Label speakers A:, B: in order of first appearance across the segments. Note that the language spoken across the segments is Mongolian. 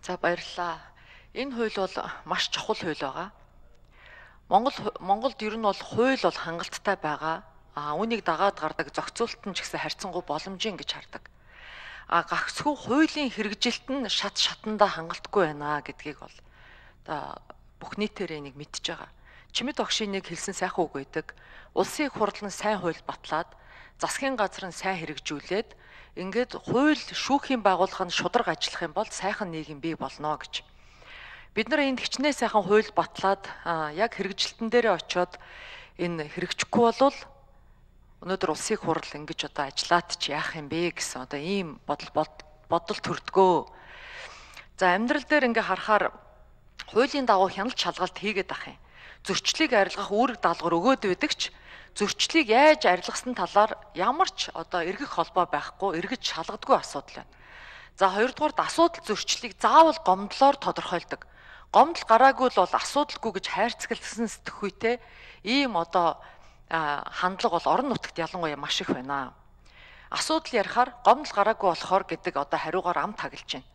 A: За баярлалаа. Энэ хууль бол маш чухал хууль байгаа. Монголд ер нь бол хууль бол хангалттай байгаа. Үүнийг дагаад гардаг зохицуулалт нь ч гэсэн харьцангуй боломжийн гэж хардаг. Гагцхүү хуулийн хэрэгжилт нь шатандаа хангалтгүй байна гэдгийг бол одоо бүх нийтээрээ нэг мэдж байгаа. Чимэд огшийн нэг хэлсэн сайхан үг байдаг. Улсын их хурл нь сайн хууль батлаад засгийн газар нь сайн хэрэгжүүлээд ингээд хууль шүүхийн байгууллага нь шударга ажиллах юм бол сайхан нийгэм бий болно гэж. Бид нар энд хичнээн сайхан хууль батлаад яг хэрэгжилтэн дээрээ очиод энэ хэрэгжихгүй болвол өнөөдөр улсын их хурл ингэж одоо ажиллаад ч яах юм бэ гэсэн одоо ийм бодол төрдгөө. За амьдрал дээр ингээ харахаар хуулийн дагуу хяналт шалгалт хийгээд ах юм. Зөрчлийг арилгах үүрэг даалгавар өгөөд байдаг ч зөрчлийг яаж арилгасан талаар ямар ч одоо эргэх холбоо байхгүй, эргэж шалгадаггүй асуудал байна. За хоёрдугаарт асуудал зөрчлийг заавал гомдлоор тодорхойлдог. Гомдол гараагүй л бол асуудалгүй гэж хайрцагтсан сэтгхүйтэй ийм одоо хандлага бол орон нутагт ялангуяа маш их байна. Асуудал ярихаар гомдол гараагүй болохоор гэдэг одоо хариугаар ам таглаж байна.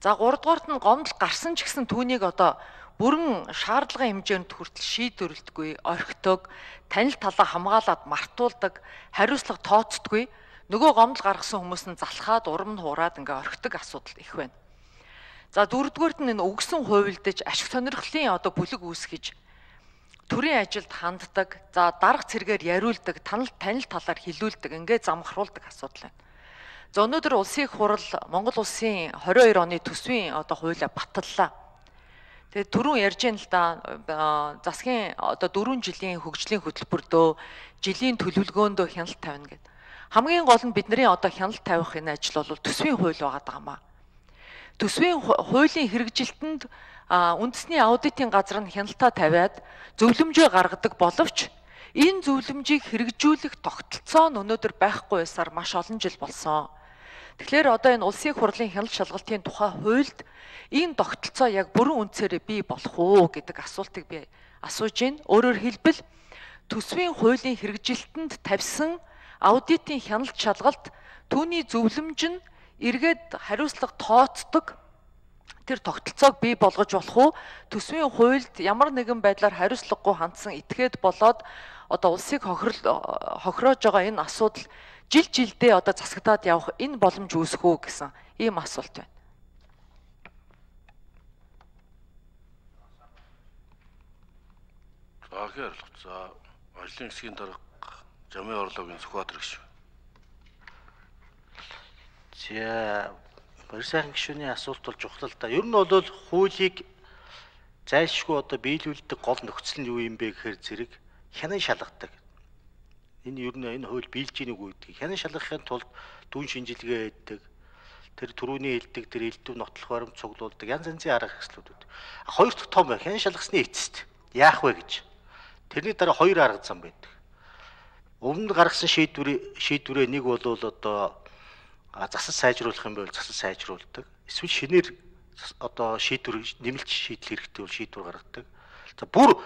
A: За гуравдугаарт нь гомдол гарсан ч гэсэн түүнийг одоо бүрэн шаардлагын хэмжээнд хүртэл шийдвэрлэдэггүй, орхидог, танил талаа хамгаалаад мартуулдаг, хариуцлага тооцдоггүй, нөгөө гомдол гаргасан хүмүүс нь залхаад урам нь хуураад ингээ орхидог асуудал их байна. За дөрөвдүгээрт нь энэ өгсөн хувилдаж ашиг сонирхлын одоо бүлэг үүсгэж төрийн ажилд ханддаг, за дарга цэргээр яриулдаг, танил талаар хилүүлдэг, ингээ замхруулдаг асуудал байна. За өнөөдөр улсын их хурл Монгол улсын 22 оны төсвийн одоо хуулиа баталлаа. Тэгээд түрүүн ярьж байна л да засгийн одоо 4 жилийн хөгжлийн хөтөлбөрдөө жилийн төлөвлөгөөндөө хяналт тавина гэдэг. Хамгийн гол нь бидний одоо хяналт тавих энэ ажил бол төсвийн хууль байгаа даамаа. Төсвийн хуулийн хэрэгжилтэнд үндэсний аудитын газар нь хяналтаа тавиад зөвлөмжөө гаргадаг боловч энэ зөвлөмжийг хэрэгжүүлэх тогтолцоо нь өнөөдөр байхгүй байсаар маш олон жил болсон. Тэгэхээр одоо энэ улсын их хурлын хяналт шалгалтын тухай хуульд энэ тогтолцоо яг бүрэн үндсээрээ бий болох уу гэдэг асуултыг би асууж байна. Өөрөөр хэлбэл төсвийн хуулийн хэрэгжилтэнд тавьсан аудитын хяналт шалгалт түүний зөвлөмж нь эргээд хариуцлага тооцдог тэр тогтолцоог бий болгож болох уу? Төсвийн хуульд ямар нэгэн байдлаар хариуцлагагүй хандсан этгээд болоод одоо улсыг хохироож байгаа энэ асуудал жилдээ одоо засагдаад явах энэ боломж үүсэх үү гэсэн ийм асуулт байна.
B: За хэрлэг. За ажлын хэсгийн дарга Жамын орлогын Сүхбаатар гишүүн.
C: За барь сайхан гишүүний асуулт бол чухал л да. Ер нь бол хуулийг зайлшгүй одоо биелүүлдэг гол нөхцөл нь юу юм бэ гэхээр зэрэг хянан шалгадаг. Энэ ер нь энэ хууль биелж ийн үгүй гэдэг. Хянан шалгахын тулд дүн шинжилгээ хийдэг. Тэр түрүүний хэлдэг тэр элдв нотлох баримт цуглуулдаг янз янзын арга хэрэгслүүд үү. Хоёр дахь том бай хянан шалгасны эцэст яах вэ гэж. Тэрний дараа хоёр арга зам байдаг. Өмнө гаргасан шийдвэрээ нэг бол одоо засал сайжруулах юм бол засал сайжруулдаг. Эсвэл шинээр одоо шийдвэр нэмэлт шийдэл хэрэгтэй бол шийдвэр гаргадаг. За бүр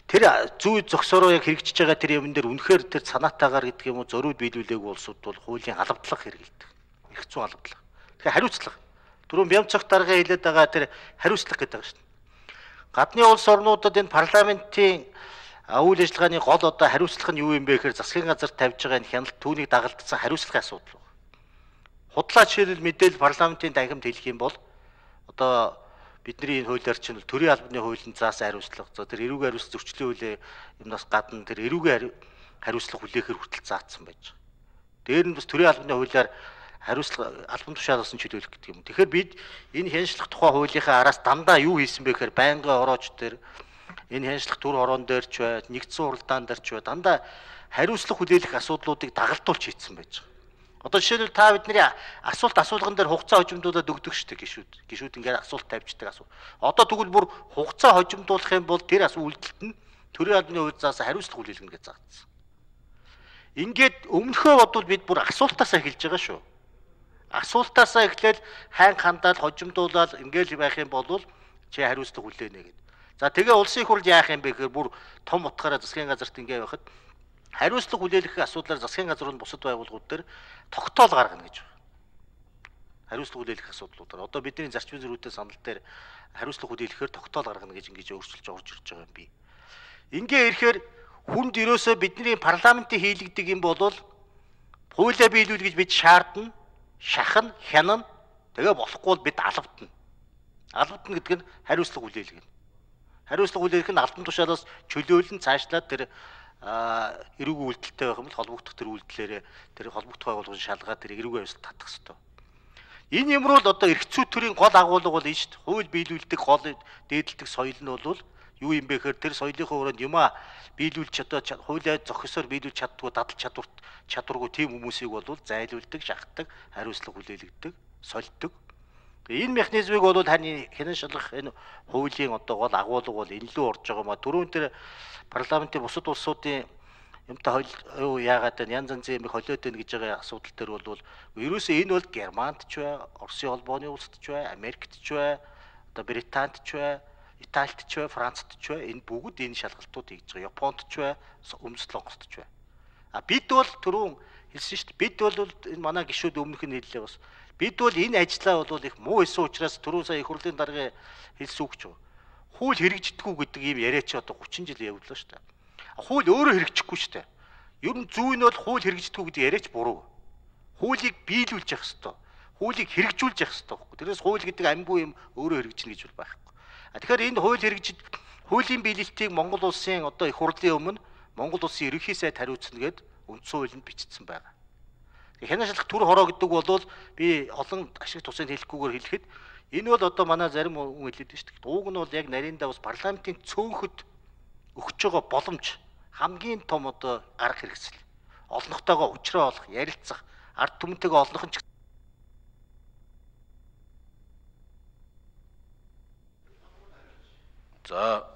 C: тэр зүй зогсоороо яг хэрэгжиж байгаа тэр юм дээр үнэхээр тэр санаатаагаар гэдэг юм уу зориуд биелүүлээгүй улсууд бол хуулийн алавдлага хэрэгэлдэг. Их зүүн алавдлага. Тэгэхээр хариуцлага. Түрүүн Бямцагт дарга хэлээд байгаа тэр хариуцлага гэдэг байгаа шүү дээ. Гадны улс орнуудад энэ парламентийн үйл ажиллагааны гол одоо хариуцлага нь юу юм бэ гэхээр засгийн газар тавьж байгаа энэ хяналт түүнийг дагалдсан хариуцлагын асуудал. Худлаа жишээлбэл мэдээлэл парламентын танхимд хэлэх юм бол одоо бидний энэ хуулиар чинь төрийн албаны хуулийн заасан хариуцлага. За тэр эрүүгийн хариуцлага зөрчлийн хуулийн юмнаас гадна тэр эрүүгийн хариуцлага хүлээхээр хүртэл заагдсан байж байгаа. Дээр нь бас төрийн албаны хуулиар хариуцлага албан тушаалгасан чөлөөлөх гэдэг юм. Тэгэхээр бид энэ хяншлах тухай хуулийнхаа араас дандаа юу хийсэн бэ гэхээр байнгын орооч дээр энэ хяншлах төр хороон дээр ч бай, нэгдсэн хуралдаан дээр ч бай дандаа хариуцлага хүлээх асуудлуудыг дагалдуулж хийсэн байж байгаа. Одоо жишээлбэл та бидний асуулган дээр хугацаа хожимдуулаад өгдөг шүү дээ гишүүд. Гишүүд ингээд асуулт тавьждаг асуулт. Одоо тэгвэл бүр хугацаа хожимдуулах юм бол тэр үйлдэлт нь төрийн албаны хууль заасан хариуцлага хүлээлгэнэ гэж заагдсан. Ингээд өмнөхөө бодвол бид бүр асуултаасаа эхэлж байгаа шүү. Асуултаасаа эхлээл хайн хандаал хожимдуулаад ингээд байх юм бол чи хариуцлага хүлээнэ гэдэг. За тэгээ улсын их хурл яах юм бэ гэхээр бүр том утгаараа засгийн газарт ингээд байхад хариуцлага хүлээлгэх асуудлаар засгийн газрын бусад байгууллагууд дээр тогтоол гаргана гэж байна. хариуцлага хүлээлгэх асуудлуудаар. Одоо бидний зарчмын зөрүүтэй санал дээр хариуцлага хүлээлгэхээр тогтоол гаргана гэж ингэж өөрчилж орж ирж байгаа юм би. Ингээ ирэхээр хүнд ерөөсөө бидний парламентын хийлэгдэг юм бол хуулиа биелүүл гэж бид шаардна, шахна, хянана. Тэгээ болохгүй бол бид алавдна. Алавдна гэдэг нь хариуцлага хүлээлгэнэ. Хариуцлага хүлээлгэх нь албан тушаалаас чөлөөлөн цаашлаад тэр эрүүгийн үйлдэлтэй байх юм бол холбогдох тэр үйлдэлээрээ тэр холбогдох байгууллагын шалгаад тэр эрүүгийн явцад татах ёстой. Энэ юмруу л одоо эрх зүй төрийн гол агуулга бол энэ шүү дээ. Хууль биелүүлдэг гол дээдэлдэг соёл нь бол юу юм бэ гэхээр тэр соёлынхоо өрөөнд юмаа биелүүлж одоо хуулиа зохисоор биелүүлж чаддгүй дадал чадваргүй тийм хүмүүсийг бол зайлуулдаг, шахдаг, хариуцлага хүлээлгдэг, сольдог. Энэ механизмыг бол таны хянан шалгах энэ хуулийн одоо гол агуулга бол энэ лөө орж байгаа маа. Түрүүн тэр парламентын бусад улсуудын юмтай юу яагаад янз янзын юм холиод байна гэж байгаа асуудал төр бол ерөөсөө энэ бол Германд ч бай, Оросын холбооны улсад ч бай, Америкт ч бай, одоо Британд ч бай, Италид ч бай, Францад ч бай энэ бүгд энэ шалгалтууд хийж байгаа. Японд ч бай, Өмнөд Солонгост ч бай. А бид бол түрүүн хэлсэн шүү дээ. Бид бол энэ манай гишүүд өмнөх нь хэллээ бас. Бид бол энэ ажлаа бол их муу исэн учраас түрүүн сая их хурлын дарга хэлсэн үг ч. Хууль хэрэгждэггүй гэдэг юм яриа чи одоо 30 жил явууллаа шүү дээ. Хууль өөрөө хэрэгжихгүй шүү дээ. Ер нь зүй нь бол хууль хэрэгждэггүй гэдэг яриач буруу. Хуулийг биелүүлж явах ёстой. Хуулийг хэрэгжүүлж явах ёстой. Тэрээс хууль гэдэг амьгүй юм өөрөө хэрэгжинэ гэж бол байхгүй. Тэгэхээр энэ хуулийн биелэлтийг Монгол улсын одоо их хурлын өмнө Монгол улсын ерөнхий сайд хариуцна гэд үндсэн хуулинд бичсэн байгаа. Хянан шалгах төр хороо гэдэг бол би олон ашиг тусыг хэлэхгүйгээр хэлэхэд энэ бол одоо манай зарим хүн хэлээд байна шүү дээ. Ууг нь бол яг нарийнда бас парламентын цөөнхөд өгч байгаа боломж хамгийн том одоо арга хэрэгсэл. Олнохтойгоо уулзраа олох, ярилцах, ард түмэнтэйгээ олнох нь
B: За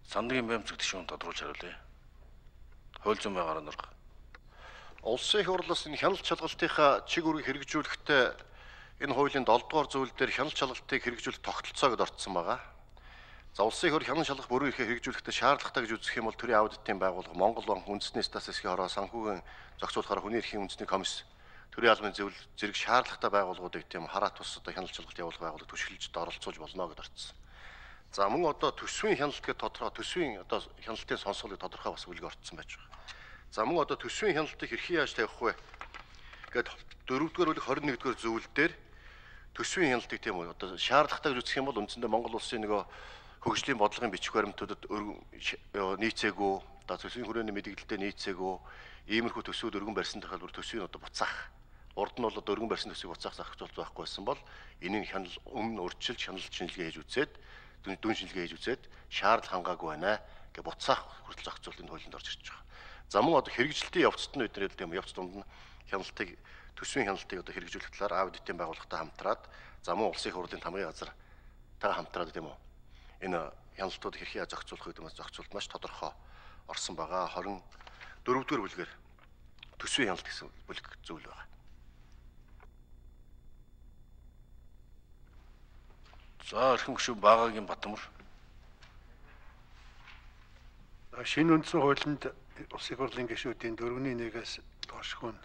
B: Сандгийн баймцаг гишүүн тодруулж хариулъя. Хууль зүйн байнгын дарга.
D: Улсын их хурлаас энэ хяналт шалгалтынхаа чиг үүргийг хэрэгжүүлэхдээ энэ хуулийн 7 дугаар зүйл дээр хяналт шалгалтыг хэрэгжүүлэх тогтолцоогод орцсон байгаа. За улсын их хурл хяналт шалгах бүрэн эрхээ хэрэгжүүлэхдээ шаардлагатай гэж үзэх юм бол төрийн аудитын байгууллага Монгол банк үндэсний статистикийн хороо санхүүгийн зохицуулахаар хүний эрхийн үндэсний комисс төрийн албаны зэрэг шаардлагатай байгууллагуудыг тийм хараат тус одоо хяналт шалгалт явуулах байгууллагад түшиглэж оролцуулж болно гэж орцсон. За мөн одоо төсвийн хяналт гэдэг тодорхой төсвийн одоо хяналтын сонсголыг тодорхой бас үлгэ орцсон байж байгаа. За мөн одоо төсвийн хяналтыг хэрхэн яаж тавих вэ гэд 4-р бүлэг 21-р зүйл дээр төсвийн хяналтыг тийм үү одоо шаардлагатай гэж үзэх юм бол үндсэндээ Монгол улсын нөгөө хөгжлийн бодлогын бичих баримтуудад нийцээгүй одоо төсвийн хүрээний мэдээлэлдээ нийцээгүй иймэрхүү төсвүүд өргөн барьсан тохиолдолд төсвийг одоо буцаах урд нь бол одоо өргөн барьсан төсвийг буцаах зохицуулт байхгүйсэн бол энийг хянал өмнө урьдчилж хяналт шинжилгээ хийж үзээд дүн шинжилгээ хийж үзээд шаардлага хангаагүй байна гэж буцаах хүртэл зохицуултын хуулинд орж ирж байгаа. За мөн одоо хэрэгжилтийн явцад нь бид нэр тийм явц дунд нь хяналтыг төсвийн хяналтыг одоо хэрэгжүүлэх талаар аудитын байгууллагатай хамтраад за мөн улсын их хурлын тамгын газартайгаа хамтраад тийм үү энэ хяналтуудыг хэрхэн зохицуулах гэдэг нь зохицуулт маш тодорхой орсон байгаа. 24-р бүлгээр төсвийн хяналт гэсэн бүлэг зүйл байгаа.
B: За эрхэм гишүүн Багаагийн Батмөр.
E: Шинэ үндсэн хуулинд улсын их хурлын гишүүдийн 4-ний 1-ээс доошгүй нь